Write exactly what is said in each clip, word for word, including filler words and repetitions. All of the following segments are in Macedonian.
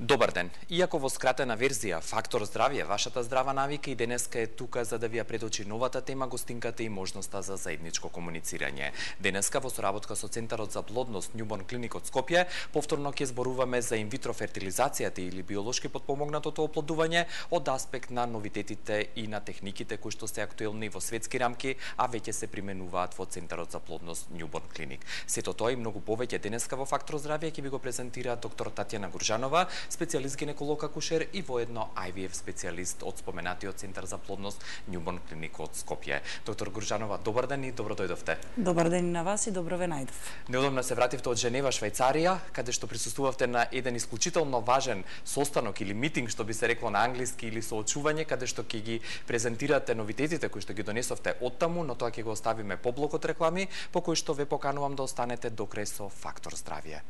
Добар ден. Иако во скратена верзија Фактор здравје, вашата здрава навика и денеска е тука за да ви ја предочи новата тема, гостинката и можноста за заедничко комуницирање. Денеска во соработка со Центарот за плодност Newborn Clinic од Скопје, повторно ќе зборуваме за инвитро фертилизацијата или биолошки потпомогнатото оплодување од аспект на новитетите и на техниките кои што се актуелни во светски рамки, а веќе се применуваат во Центарот за плодност Newborn Clinic. Сето тоа и многу повеќе денеска во Фактор здравје ќе ви го презентира доктор Татјана Гуржанова, специјалист гинеколог акушер и воедно Ай Ви Еф специјалист од споменатиот Центар за плодност Newborn Clinic од Скопје. Доктор Гуржанова, добар ден и добро дојдовте. Добар ден на вас и добро ве најдов. Неодамна се вративте од Женева, Швајцарија, каде што присуствувавте на еден исклучително важен состанок или митинг, што би се рекло на англиски, или соочување, каде што ќе ги презентирате новитетите кои што ги донесовте оттаму, но тоа ќе го оставиме по блокот реклами, по кои што ве поканувам да останете до крај со Фактор здравје.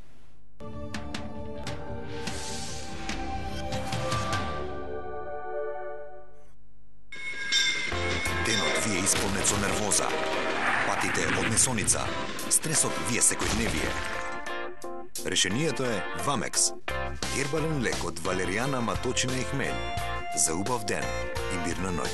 Денот ви е исполнет со нервоза, патите од несоница, стресот ви е секојдневие. Решението е Вамекс, гербален лек од валеријана, маточина и хмель, за убав ден и мирна ноќ.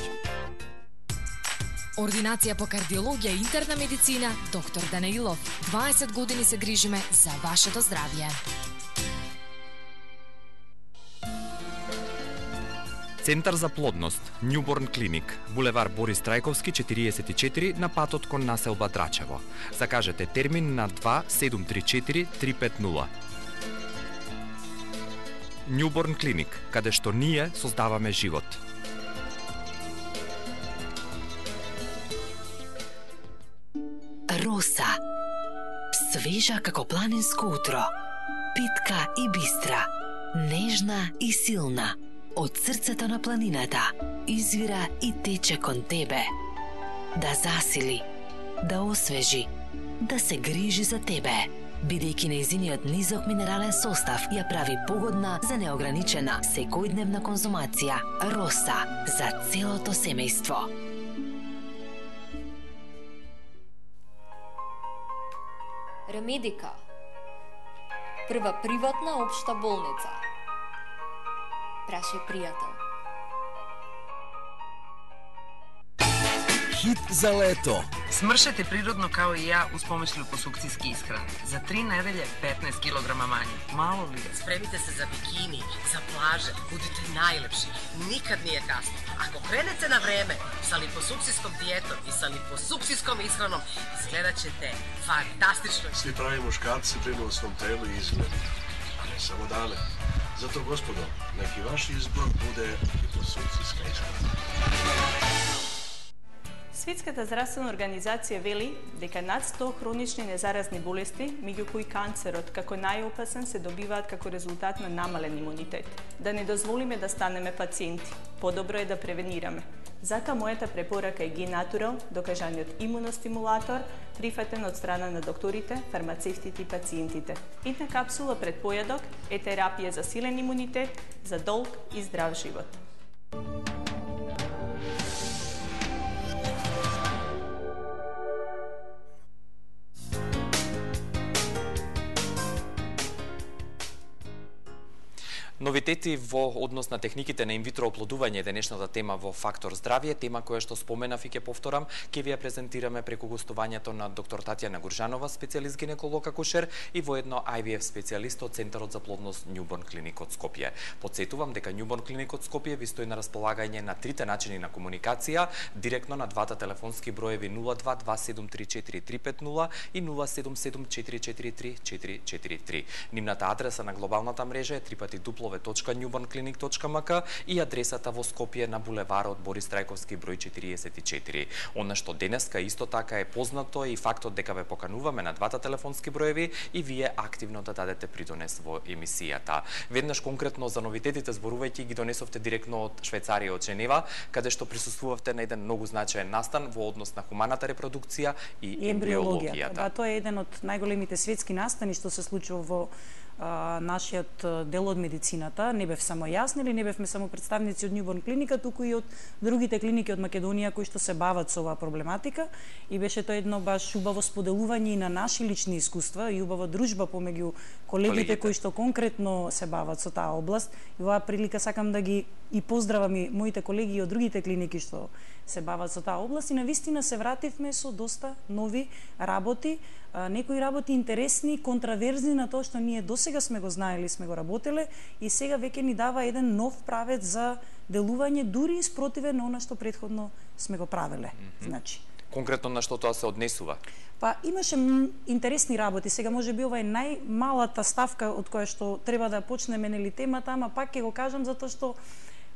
Ординација по кардиологија и интерна медицина, доктор Данаилов. дваесет години се грижиме за вашето здравје. Центар за плодност Newborn Clinic, булевар Борис Трајковски четириесет и четири на патот кон населба Драчево. Закажете термин на два седум три четири три пет нула. Newborn Clinic, каде што ние создаваме живот. Роса. Свежа како планинско утро. Питка и бистра. Нежна и силна. Од срцето на планината извира и тече кон тебе. Да засили, да освежи, да се грижи за тебе. Бидејќи нејзиниот низок минерален состав ја прави погодна за неограничена секојдневна конзумација. Роса за целото семејство. Ремедика. Прва приватна општа болница. Праши пријател. Хит за лето. Смршете природно као и ја уз помош липосукцијски исхрани. За три неделје петнаесет килограма мање. Мало ли е? Спремите се за бикини, за плаже, будете најлепши. Никад не е касно. Ако кренете на време со липосукцијском диетом и со липосукцијском исхраном, изгледачете фантастично. Сви прави мушкарци брину о свом телу и изгледу, а не само даме. Зато, господо, неки ваш избор буде липосукцијска исхрана. Светската здравствена организација вели дека над сто хронични незаразни болести, меѓу кои канцерот како најопасен, се добиваат како резултат на намален имунитет. Да не дозволиме да станеме пациенти. Подобро е да превенираме. Затоа мојата препорака е Генатурал, докажаниот имуностимулатор, прифатен од страна на докторите, фармацевтите и пациентите. Една капсула пред појадок е терапија за силен имунитет, за долг и здрав живот. Новитети во однос на техниките на инвитро оплодување е денешната тема во Фактор здравје, тема која што споменав и ќе повторам, ќе ви ја презентираме преку гостувањето на доктор Татјана Гуржанова, специјалист гинеколог акушер и воедно Ай Ви Еф специјалист од Центарот за плодност Newborn Clinic од Скопје. Потсетувам дека Newborn Clinic од Скопје ви стои на располагање на трите начини на комуникација, директно на двата телефонски броеви нула два два седум три четири три пет нула и нула седум седум четири четири три четири четири три. Нивната адреса на глобалната мрежа е три пати дупло точка newborn clinic точка м к и адресата во Скопје на булеварот Борис Трајковски број четириесет и четири. Она што денеска исто така е познато и фактот дека ве покануваме на двата телефонски броеви и вие активно да дадете придонес во емисијата. Веднаш конкретно за новитетите зборувајќи ги донесовте директно од Швајцарија, од Женева, каде што присуствувавте на еден многу значаен настан во однос на хуманата репродукција и, и ембриологијата. Да, тоа е еден од најголемите светски настани што се случува во а, нашиот дел од медицината. Не бев само јас, или не бевме само представници од Newborn клиника, туку и од другите клиники од Македонија кои што се бават со оваа проблематика, и беше тоа едно баш убаво споделување и на наши лични искуства и убава дружба помеѓу колегите, колегите кои што конкретно се бават со таа област. И оваа прилика сакам да ги и поздравам и моите колеги од другите клиники што се бават со таа област, и навистина се вративме со доста нови работи, некои работи интересни, контраверзни на тоа што ние досега сме го знаели, сме го работеле, и сега веќе ни дава еден нов правец за делување, дури и спротивен на она што претходно сме го правеле. Mm -hmm. Значи, конкретно на што тоа се однесува? Па имаше интересни работи. Сега може би ова е најмалата ставка од која што треба да почнеме нели темата, ама пак ќе го кажам затоа што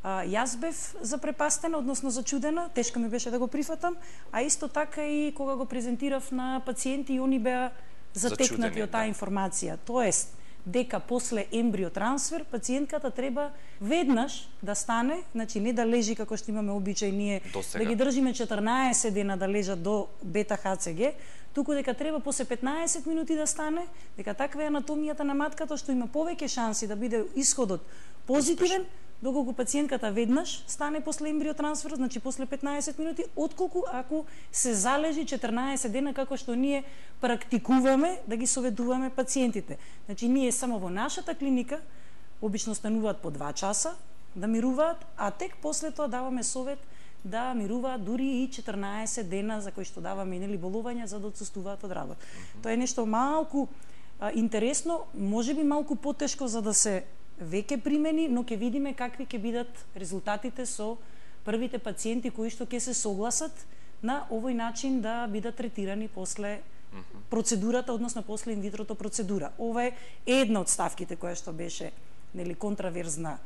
а, јас бев запрепастена, односно зачудена, тешко ми беше да го прифатам, а исто така и кога го презентирав на пациенти, и они беа затекнати од таа да. информација. Тоест, дека после ембриотрансфер пациентката треба веднаш да стане, значи не да лежи како што имаме обичај ние да ги држиме четрнаесет дена да лежат до бета Х Ц Г, туку дека треба после петнаесет минути да стане, дека таква е анатомијата на матката што има повеќе шанси да биде исходот позитивен, доколку пациентката веднаш стане после ембриотрансфер, значи после петнаесет минути, отколку ако се залежи четрнаесет дена, како што ние практикуваме да ги советуваме пациентите. Значи ние само во нашата клиника обично стануваат по два часа да мируваат, а тек после тоа даваме совет да мируваат дури и четрнаесет дена, за кои што даваме нели болувања за да отсуствуваат од работа. Mm -hmm. Тоа е нешто малку а, интересно, можеби малку потешко за да се веќе примени, но ќе видиме какви ќе бидат резултатите со првите пациенти кои што ќе се согласат на овој начин да бидат третирани после процедурата, односно после инвитрото процедура. Ова е една од ставките која што беше нели контраверзна.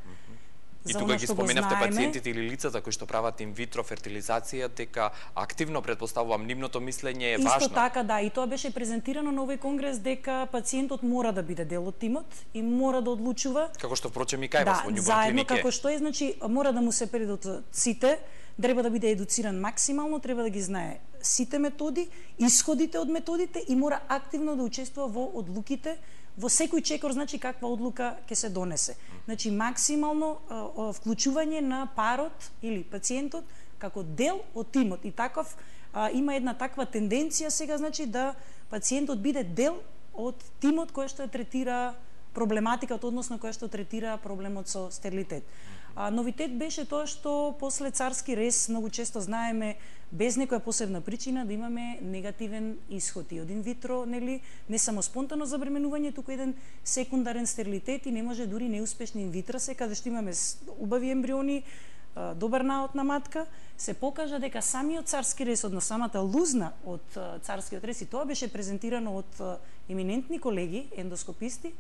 И тука ги споменавте пациентите или лицата кои што прават инвитро фертилизација, дека активно предпоставувам нивното мислење е Исто важно. Исто така, да, и тоа беше презентирано на овој конгрес дека пациентот мора да биде дел од тимот и мора да одлучува. Како што впрочем и кај вас во Newborn клинике. Да, заедно како што е, значи мора да му се предадат сите, треба да биде едуциран максимално, треба да ги знае сите методи, исходите од методите и мора активно да учествува во одлуките, во секој чекор, значи каква одлука ќе се донесе. Значи максимално а, вклучување на парот или пациентот како дел од тимот, и таков а, има една таква тенденција сега, значи да пациентот биде дел од тимот кој што третира проблематиката, односно која што третира проблемот со стерилитет. А, новитет беше тоа што после царски рез многу често знаеме без некоја посебна причина да имаме негативен исход и од инвитро, нели, не само спонтано забременување, туку еден секундарен стерилитет и не може дури неуспешни инвитра се, каде што имаме убави ембриони, добар наод на матка, се покажа дека самиот царски рез, одно самата лузна од царскиот рез, и тоа беше презентирано од еминентни колеги, ендоскописти,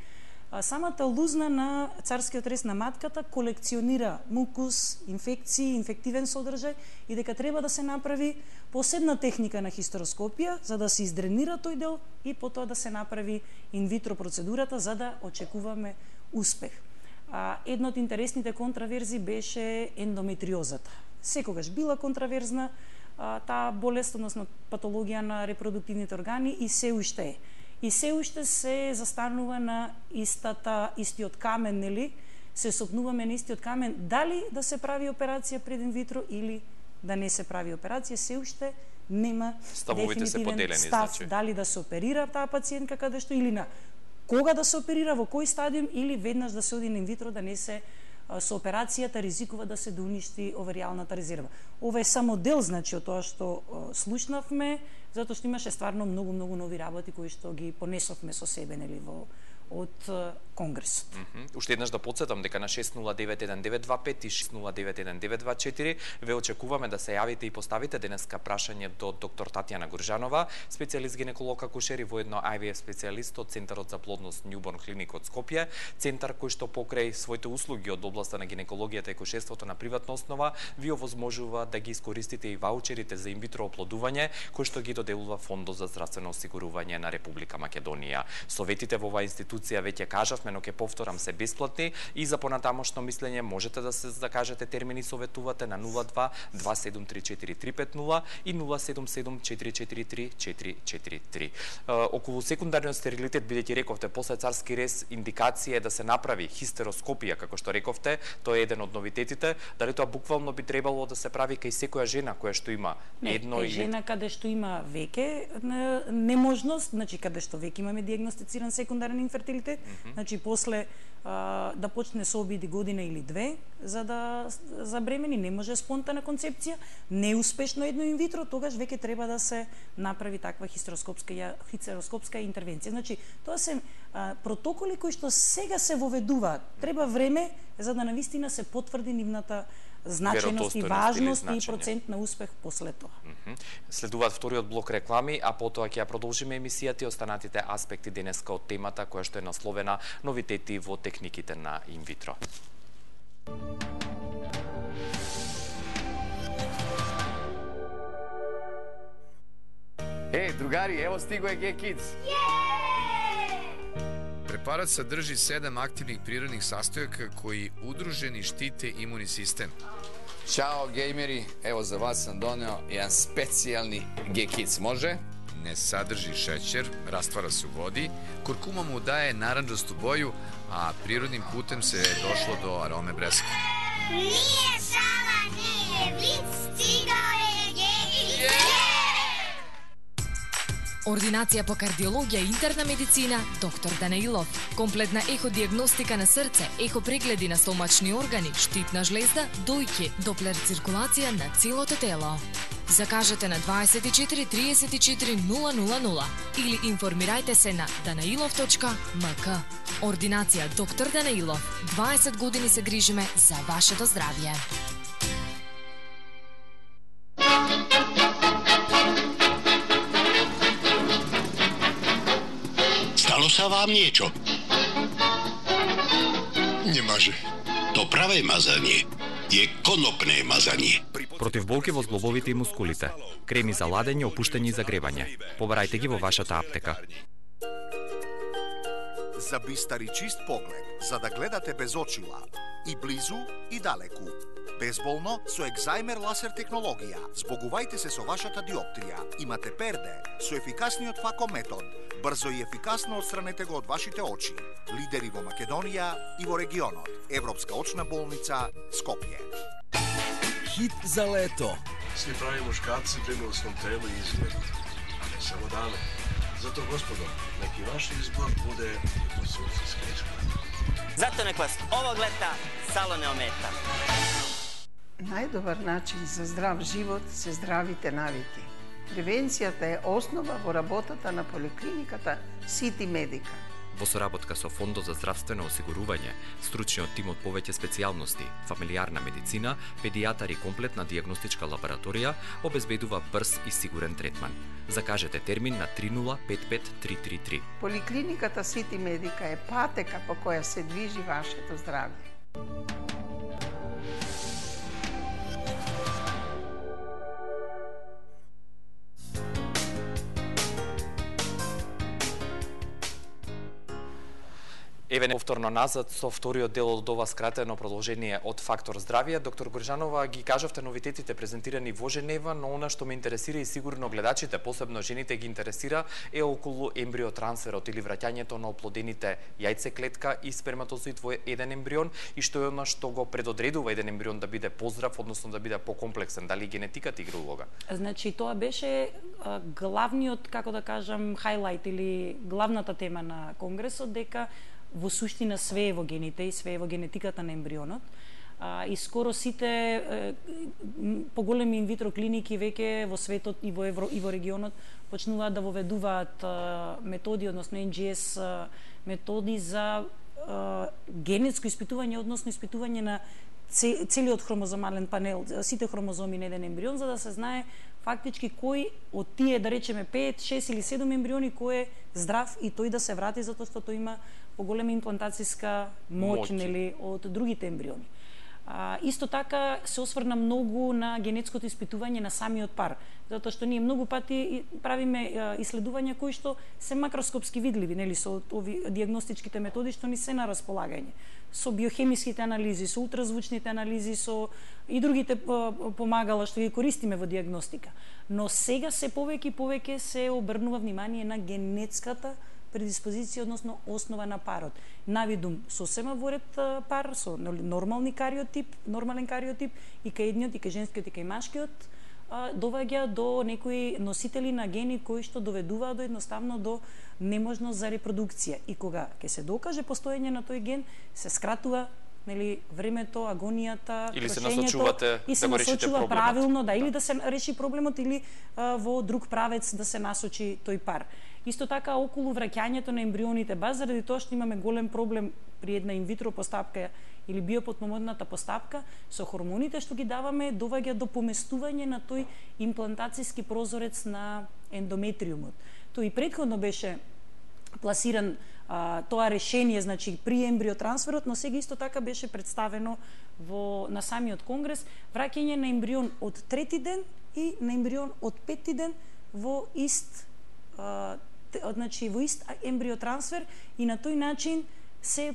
самата лузна на царскиот рез на матката колекционира мукус, инфекции, инфективен содржај и дека треба да се направи посебна техника на хистероскопија за да се издренира тој дел и потоа да се направи инвитро процедурата за да очекуваме успех. А, една од интересните контраверзи беше ендометриозата. Секогаш била контраверзна а, таа болест, односно патологија на репродуктивните органи, и се уште е. И се уште се застанува на истата, истиот камен, нели? Се сопнуваме на истиот камен, дали да се прави операција пред инвитро или да не се прави операција, се уште нема Ставовите се поделени, став, значи. Дали да се оперира таа пациентка каде што или на кога да се оперира, во кој стадиум, или веднаш да се оди на инвитро да не се со операцијата ризикува да се доуништи оверијалната резерва. Ова е само дел, значи, од тоа што слушнавме, затоа што имаше стварно многу многу нови работи кои што ги понесовме со себе, нели, во од конгресот. Mm -hmm. Уште еднаш да потсетам дека на шест нула девет еден девет два пет и шест нула девет еден девет два четири ве очекуваме да се јавите и поставите денеска прашање до доктор Татјана Гуржанова, специјалист гинеколог акушер и воедно Ай Ви Еф специјалист од Центарот за плодност Newborn клиник од Скопје, центар кој што покрај своите услуги од областа на гинекологијата и акушерството на приватна основа ви овозможува да ги искористите и ваучерите за инвитро оплодување кој што ги доделува Фондот за здравствено осигурување на Република Македонија. Советите во оваа институција институција веќе кажавме, но ќе повторам, се бесплатни и за понатамошно мислење можете да се закажете термин и советувате на нула два два седум три четири три пет нула и нула седум седум четири четири три четири четири три. Околу секундарниот стерилитет, бидејќи рековте после царски рез индикација е да се направи хистероскопија, како што рековте, тоа е еден од новитетите, дали тоа буквално би требало да се прави кај секоја жена која што има не, едно или жена каде што има веќе неможност, значи каде што веќе имаме дијагностициран секундарен инфертилитет, mm -hmm. значи после а, да почне со обиди година или две за да забремени, не може спонтана концепција, неуспешно едно инвитро, тогаш веќе треба да се направи таква хистероскопска хистероскопска интервенција. Значи тоа се а, протоколи кои што сега се воведуваат. Треба време за да навистина се потврди нивната значеност и важност и процент на успех после тоа. Mm -hmm. Следуваат вториот блок реклами, а потоа ќе ја продолжиме емисијата и останатите аспекти денеска од темата која што е насловена новитети во техниките на инвитро. Е, другари, ево стиго е G-Kids. Препарат садржи седам активних природних састојака кои удружени штите имуни систем. Чао, геймери, ево за вас сам донео еден специјални G-Kids, може? Не садржи шеќер, раствара се у води, куркума му дае наранџасту боју, а природним путем се е дошло до ароме бреска. Nije šala, nije vic, stigao je G-Kids. Ординација по кардиологија и интерна медицина, доктор Данаилов. Комплетна еходиагностика на срце, ехопрегледи на стомачни органи, штитна жлезда, дојке, доплер циркулација на целото тело. Закажете на дваесет и четири триесет и четири нула нула нула или информирајте се на данаилов точка ем ка. Ординација доктор Данаилов. дваесет години се грижиме за вашето здравје. Stalo sa vám niečo? Nemáže. To pravé mazanie je konopné mazanie. Против болки во зглобовите и мускулите. Креми за ладење, опуштање и загревање. Побарајте ги во вашата аптека. За бистар и чист поглед, за да гледате без очила, и близу и далеку. Безболно со екзајмер ласер технологија. Збогувајте се со вашата диоптрија. Имате перде со ефикасниот фако метод. Брзо и ефикасно отстранете го од вашите очи. Лидери во Македонија и во регионот. Европска очна болница Скопје. Хит за лето. Сви прави мушкарци при милосном телу и изгледу, а не само даме. Зато, господо, неки ваш избор буде по сукциска изгледа. Зато нек вас овог лета сало не омета. Најдобар начин за здрав живот се здравите навики. Превенцијата е основа во работата на поликлиниката Сити Медика. Во соработка со Фондот за здравствено осигурување, стручниот тим од повеќе специјалности, фамилиарна медицина, педијатар и комплетна дијагностичка лабораторија обезбедува брз и сигурен третман. Закажете термин на три нула пет пет три три три. Поликлиниката Сити Медика е патека по која се движи вашето здравје. Еве повторно назад со вториот дел од ова скратено продолжение од Фактор здравје. Доктор Горжанова, ги кажавте новитетите презентирани во Женева, но она што ме интересира и сигурно гледачите, посебно жените ги интересира, е околу ембриотрансферот или враќањето на оплодените јајцеклетка и сперматозоид во еден ембрион и што е она што го предодредува еден ембрион да биде поздрав, односно да биде покомплексен, дали генетиката игра улога? Значи тоа беше а, главниот, како да кажам, хайлайт или главната тема на конгресот, дека во суштина све е во гените и све е во генетиката на ембрионот. А, и скоро сите е, поголеми инвитро клиники веќе во светот и во Евро и во регионот почнуваат да воведуваат а, методи, односно ен джи ес а, методи за а, генетско испитување, односно испитување на целиот хромозомален панел, сите хромозоми на еден ембрион, за да се знае фактички кој од тие, да речеме пет, шест или седум ембриони, кој е здрав и тој да се врати затоа што тој има поголема имплантацијска моќ, нели, од другите ембриони. А, исто така се осврна многу на генетското испитување на самиот пар, затоа што ние многу пати правиме исследувања кои што се макроскопски видливи, нели, со ови дијагностичките методи што ни се на располагање, со биохемиските анализи, со ултразвучните анализи, со и другите помагала што ги користиме во дијагностика. Но сега се повеќе и повеќе се обрнува внимание на генетската предиспозиција, односно основа на парот. Навидум сосема воред пар со нормални кариотип, нормален кариотип и кај едниот, и кај женскиот, и кај машкиот, доваѓа до некои носители на гени кои што доведуваат до едноставно до неможност за репродукција. И кога ќе се докаже постоење на тој ген, се скратува, нели, времето, агонијата, или се насочувате и се да го решите насочува проблемот. Правилно, да, или да се реши проблемот, или а, во друг правец да се насочи тој пар. Исто така околу враќањето на ембрионите, баш заради тоа што имаме голем проблем при една инвитро постапка или биопотпомогната постапка, со хормоните што ги даваме доваѓа до поместување на тој имплантацијски прозорец на ендометриумот. Тој и претходно беше пласиран а, тоа решение, значи при ембриотрансферот, но сега исто така беше представено во на самиот конгрес враќање на ембрион од трети ден и на ембрион од пети ден во ист а, значи во ист ембриотрансфер, и на тој начин се,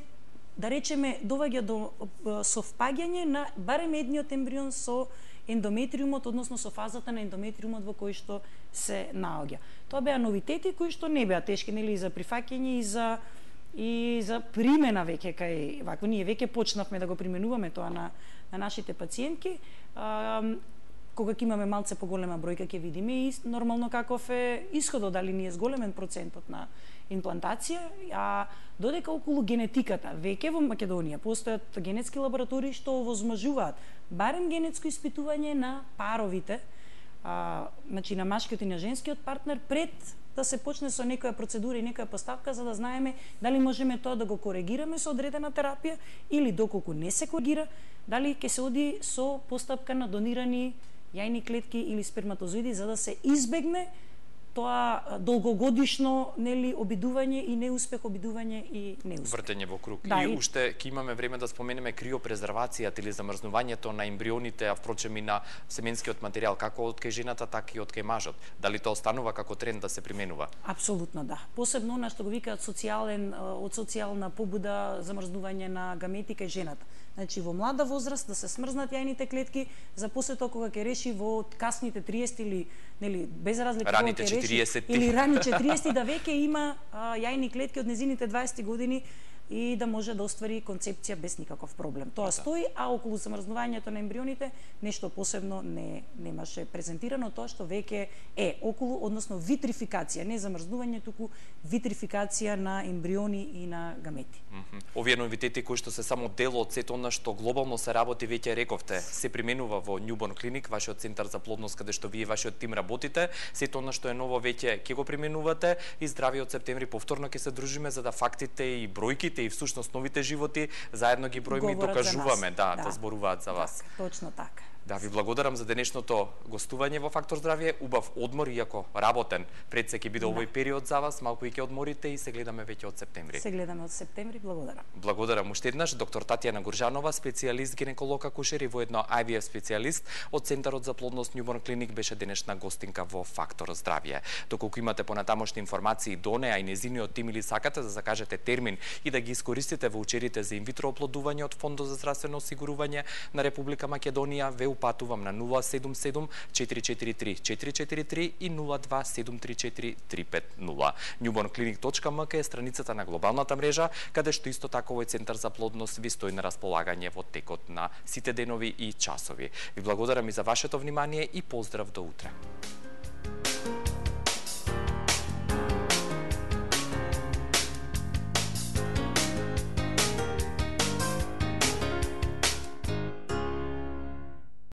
да речеме, доваѓа до совпаѓање на барем едниот ембрион со ендометриумот, односно со фазата на ендометриумот во кој што се наоѓа. Тоа беа новитети кои што не беа тешки, нели, и за прифаќање и за и за примена веќе кај вако ние веќе почнавме да го применуваме тоа на на нашите пациентки. А, кога ќе имаме малце поголема бројка ќе видиме и нормално каков е исходот, дали ни е зголемен процентот на имплантација, а додека околу генетиката, веќе во Македонија постојат генетски лаборатории што овозможуваат барем генетско испитување на паровите, а, значи на машкиот и на женскиот партнер, пред да се почне со некоја процедура и некоја поставка, за да знаеме дали можеме тоа да го коригираме со одредена терапија, или доколку не се коригира, дали ќе се оди со постапка на донирани јајни клетки или сперматозоиди, за да се избегне тоа долгогодишно, нели, обидување и неуспех, обидување и неуспех. Вртење во круг. Да, и и уште ќе имаме време да споменеме криопрезервацијата или замрзнувањето на ембрионите, а впрочем и на семенскиот материјал, како од кај жената, така и од кај мажот. Дали тоа останува како тренд да се применува? Апсолутно да. Посебно на што го викаат социјален, од социјална побуда замрзнување на гамети кај жената. Значи во млада возраст да се смрзнат јајните клетки, за после тоа кога ќе реши во касните триесет или, нели, без разлика кога ќе реши, или рани четириесет, да веќе има а, јајни клетки од незините дваесет години и да може да оствари концепција без никаков проблем. Тоа стои, а околу замрзнувањето на ембрионите нешто посебно не немаше презентирано, тоа што веќе е околу, односно витрификација, не замрзнување, туку витрификација на ембриони и на гамети. Mm -hmm. Овие новитети кои што се само дел од сето она што глобално се работи, веќе рековте, се применува во Newborn Clinic, вашиот центар за плодност, каде што вие вашиот тим работите, сето она што е ново веќе ќе го применувате, и здрави од септември повторно ќе се дружиме за да фактите и бројките и всушност новите животи заедно ги броиме и докажуваме да, да, да зборуваат за вас. Так, точно така. Да, ви благодарам за денешното гостување во Фактор здравје, убав одмор, иако работен. Пред се ќе биде да. овој период за вас, малку и ќе одморите и се гледаме веќе од септември. Се гледаме од септември, благодарам. Благодарам уште еднаш доктор Татјана Гуржанова, специјалист гинеколог акушер и воедно Ай Ви Еф специјалист од Центарот за плодност Newborn Clinic, беше денешна гостинка во Фактор здравје. Доколку имате понатамошни информации до неа и незиниот тим или сакате да закажете термин и да ги искористите во учерите за инвитро оплодување од Фондот за здравствено осигурување на Република Македонија, ве упатувам на нула седум седум четири четири три четири четири три и нула два седум три четири три пет нула. newborn clinic точка ем ка е страницата на глобалната мрежа, каде што исто така овој центар за плодност ви стои на располагање во текот на сите денови и часови. Ви благодарам и за вашето внимание и поздрав до утре.